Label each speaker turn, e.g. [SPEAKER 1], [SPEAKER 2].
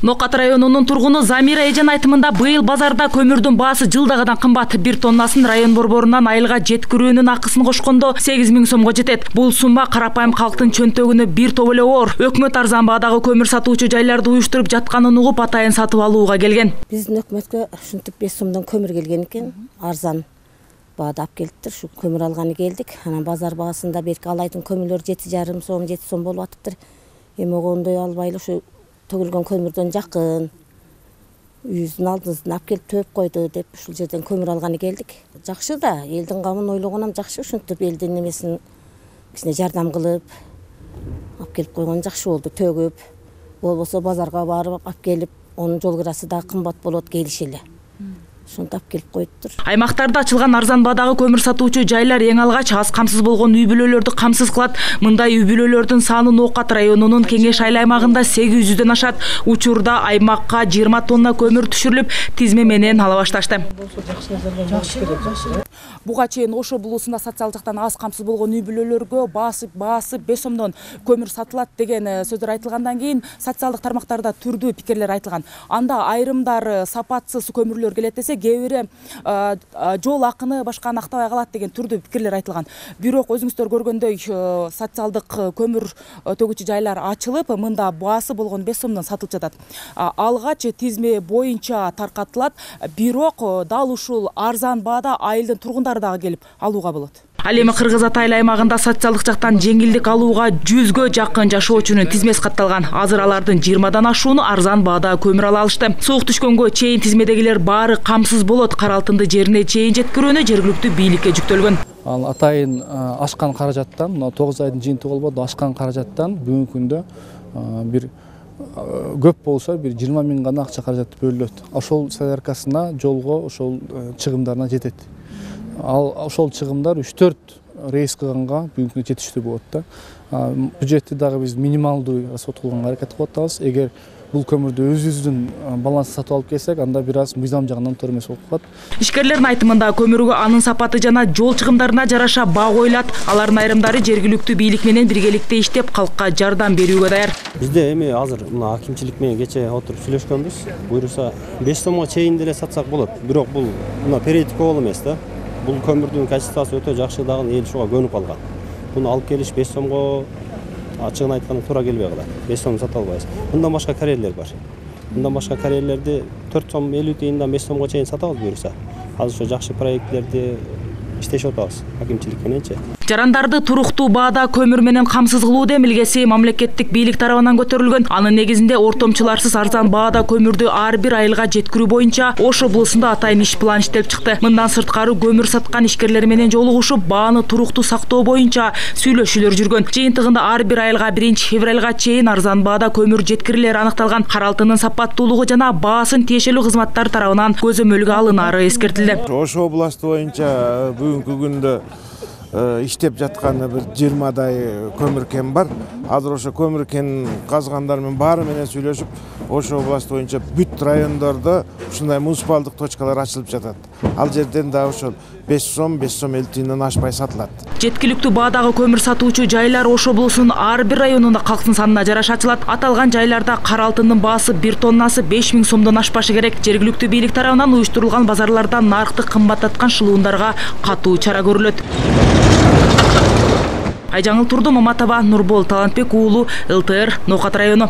[SPEAKER 1] Нокат районунун тургуну Замира эжен айтымында быйыл базарда көмүрдүн баасы жылдагыдан кымбат. 1 тоннасын район борборунан айылга жеткирүүнүн акысын кошкондо 8000 сомго жетет. Бул сумма карапайым калктын чөнтөгүнө бир топ эле оор. Өкмөт арзан баадагы көмүр сатуучу жайларды уюштуруп жатканын угуп атайын сатып алууга келген.
[SPEAKER 2] Биздин өкмөткө ушинтип 5 сомдон көмүр келген экен. Арзан баада алып келиптир. Ушу көмүр алганы келдик. Анан базар баасында берки алайдын көмүрлөр 7,5 сом, 7 сом болуп атыптыр. Эми огондой албайлы ушу төгүлгөн көмүрдөн жакын үйүбүздүн алдыбыздан алып келип төп койду деп ушул жерден көмүр алганы келдик. Жакшы да, элдин камын ойлогонам жакшы, ушинтип элдин немесин кичине жардам кылып алып келип койгон жакшы болду, төгүп. Болбосо базарга барып алып келип, онун жол кырасы да кымбат болот келиши эле. Ушинтип алып келип коюптур.
[SPEAKER 1] Аймактарда ачылган арзан баадагы көмүр сатуучу жайлар эң алгач аз камсыз болгон үй бүлөлөрдү камсыз кылат. Мындай үй бүлөлөрдүн саны Нокат районунун Кеңеш айыл аймагында 800дөн ашат. Учурда аймакка 20 тонна көмүр түшүрүлүп, тизме менен ала башташты. Буга чейин Ош облусунда социалдык жактан аз камсыз болгон үй бүлөлөргө баасы 5 сомдон көмүр сатылат деген сөздөр айтылгандан кийин социалдык тармактарда түрдүү пикирлер айтылган. Анда айрымдар сапатсыз көмүрлөр келет десе, кээ бири жол акыны башканы актабай калат деген түрдүү пикирлер айтылган. Бирок өзүңүздөр көргөндөй социалдык көмүр төгүүчү жайлар ачылып, мында баасы болгон 5 сомдон сатылып жатат. Алгач тизме боюнча таркатылат, бирок дал ушул арзан баада айылдын тургундары дагы келип алууга болот. Ал эми Кыргыз Ата айыл аймагында социалдык жактан жеңилдик алууга 100гө жакын жашоочунун тизмеси катталган. Азыр алардын 20дан ашууну арзан баада көмүр ала алышты. Суук түшкөнгө чейин тизмедегилер баары камсыз болот. Каралтынды жерине чейин жеткирүүнү жергиликтүү бийликке жүктөлгөн.
[SPEAKER 3] Ал атайын ашкан каражаттан, 9 айдын жыйынтыгы болбоду, ашкан каражаттан бүгүнкү күндө бир көп болсо бир 20 000 гана акча каражат бөлүнөт. Ошол соляркасына, жолго, ошол чыгымдарына жетет. Ал ошол чыгымдар 3-4 рейс кылганга бүгүнкү жетиштүү болот да. Бюджетти дагы биз минималдуу расход кылганга аракет кылып атабыз. Эгер бул көмүрдү өзүбүздүн баланс сатып алып келсек, анда бир аз мыйзам жагынан туура эмес болуп калат.
[SPEAKER 1] Ишкерлердин айтымында көмүргө анын сапаты жана жол чыгымдарына жараша баа коюлат. Алардын айрымдары жергиликтүү бийлик менен биргеликте иштеп, калкка жардам берүүгө даяр.
[SPEAKER 4] Бизде эми азыр мына акимчилик менен кече отуруп сүйлөшкөнбүз. Буюрса 5 сомго чейин деле сатсак болот. Бирок бул мына периодик боло эмес да. Бул көмүрдүн качествосу өтө жакшы дагы, эл ушуга көнүп калган. Буну алып келиш 5 сомго ачыгын айтканда туура келбей калат. 5 сом сата албайбыз. Мындан башка карьерлер бар. Мындан башка карьерлерди 4 сом 50 тыйындан 5 сомго чейин сатабыз буюрса. Азыр ошо жакшы проектлерди иштешип атабыз акимчилик мененчи.
[SPEAKER 1] Жарандарды туруктуу баада көмүр менен камсыз кылуу демилгеси мамлекеттик бийлик тарабынан көтөрүлгөн. Анын негизинде ортомчуларсыз арзан баада көмүрдү ар бир айылга жеткирүү боюнча Ош облусунда атайын иш план иштелип чыкты. Мындан сырткары көмүр саткан ишкерлер менен жолугушуп, бааны туруктуу сактоо боюнча сүйлөшүүлөр жүргөн. Жыйынтыгында ар бир айылга 1-февралга чейин арзан баада көмүр жеткирилери аныкталган. Каралтынын сапаттуулугу жана баасын тиешелүү кызматтар тарабынан көзөмөлгө алынары эскертилди.
[SPEAKER 5] Ош областы боюнча бүгүнкү күндө иштеп жатканы бир 20дай көмүр кен бар. Азыр ошо көмүр кен казгандар менен баары менен сүйлөшүп, Ош областы боюнча бүт райондордо ушундай муниципалдык точкалар ачылып жатат. Ал жерден да ошол 5 сом 50 тыйындан ашпай сатылат.
[SPEAKER 1] Жеткиликтүү баадагы көмүр сатуучу жайлар Ош облусунун ар бир районунда калктын санына жараша ачылат. Аталган жайларда кара алтындын баасы 1 тоннасы 5000 сомдон ашпашы керек. Жергиликтүү бийлик тарабынан уюштурулган базарларда наркты кымбаттаткан шылуундарга катуу чара көрүлөт. Айжаңыл Турду, Маматова, Нурбол Талантбек уулу, ЛТР, Нокат району.